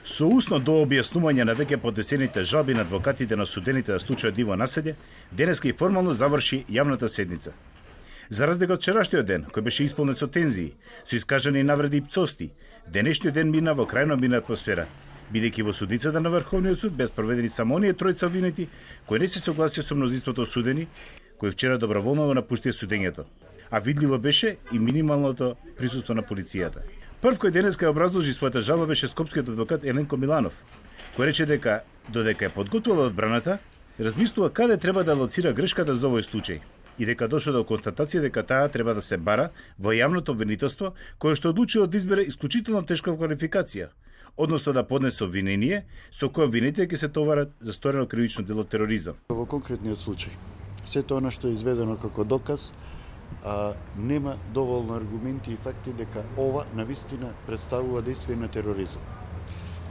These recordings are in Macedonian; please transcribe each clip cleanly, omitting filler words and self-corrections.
Со усно до објаснување на веќе поднесените жалби на адвокатите на осудените на случајот Диво Населје, денеска и формално заврши јавната седница. За разлика од вчерашниот ден, кој беше исполнет со тензии, со искажани навреди и пцости, денешниот ден мина во крајно мирна атмосфера, бидејќи во судницата на Врховниот суд беа спроведени само оние тројца обвинети кои не се согласија со мнозинството осудени, кои вчера доброволно го напуштија судењето. А видливо беше и минималното присуство на полицијата. Прв кој денеска ја образложи својата жалба беше скопскиот адвокат Еленко Миланов, кој рече дека додека ја подготвила одбраната, размислува каде треба да лоцира грешката за овој случај и дека дошла до констатација дека таа треба да се бара во јавното обвинителство, кое што одлучило да избере исклучително тешка квалификација, односно да поднесе обвинение со кое обвинетите ќе се товарат за сторено кривично дело тероризам. Во конкретниот случај, сето она што е изведено како доказ, нема доволно аргументи и факти дека ова навистина представува дејствие на тероризам.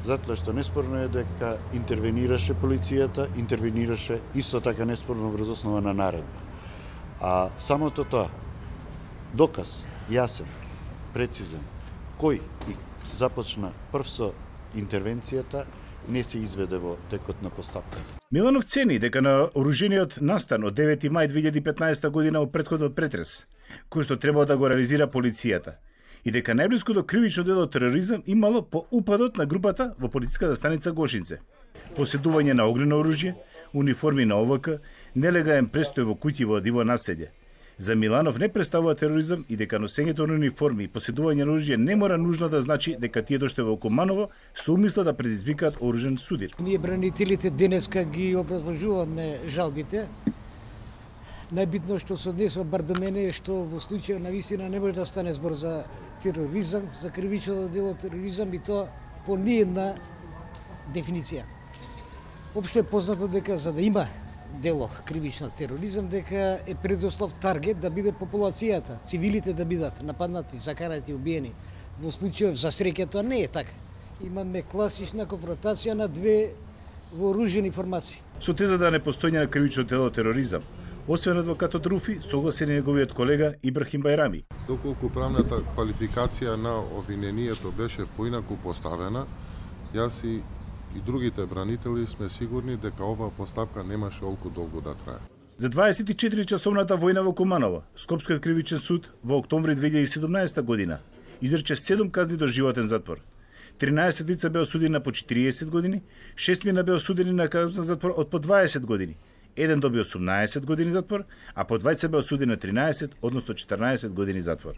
Затоа што неспорно е дека интервенираше полицијата, интервенираше исто така неспорно врз основа на наредба. А самото тоа, доказ, јасен, прецизен, кој и започна прв со интервенцијата, не се изведе во текот на постапката. Миланов цени дека на оружениот настан од 9 мај 2015 година во претходот претрес, кој што требало да го реализира полицијата, и дека најблиску до кривично дело тероризам имало по упадот на групата во полициската станица Гошинце. Поседување на огнено оружје, униформи на ОВК, нелегален престој во куќи во Диво Населје. За Миланов не представува тероризам и дека носењето на униформи и поседување на оружје не мора нужно да значи дека тие дошле во Куманово со умисла да предизвикаат оружен судир. Ние бранителите денеска ги образложуваме жалбите. Најбитно што се однесува бар до мене е што во случај на вистина не може да стане збор за тероризам, за кривично дело тероризам и тоа по ниедна дефиниција. Општо е познато дека за да има дело кривично тероризам, дека е предуслов таргет да биде популацијата, цивилите да бидат нападнати, закарати, убиени. Во случајов за среќа тоа не е така. Имаме класична конфронтација на две вооружени формации. Со теза да не постојање на кривично дело тероризам, освен адвокатот Руфи, согласен и неговиот колега Ибрахим Бајрами. Доколку правната квалификација на обвинението беше поинаку поставена, јас и другите бранители сме сигурни дека оваа постапка немаше толку долго да трае. За 24-часовната војна во Куманово, Скопскиот кривичен суд во октомври 2017 година изрече 7 казни до животен затвор. 13 лица беа осудени на по 40 години, 6 мина беа осудени на казна затвор од по 20 години. Еден доби 18 години затвор, а по двајца беа осудени на 13, односно 14 години затвор.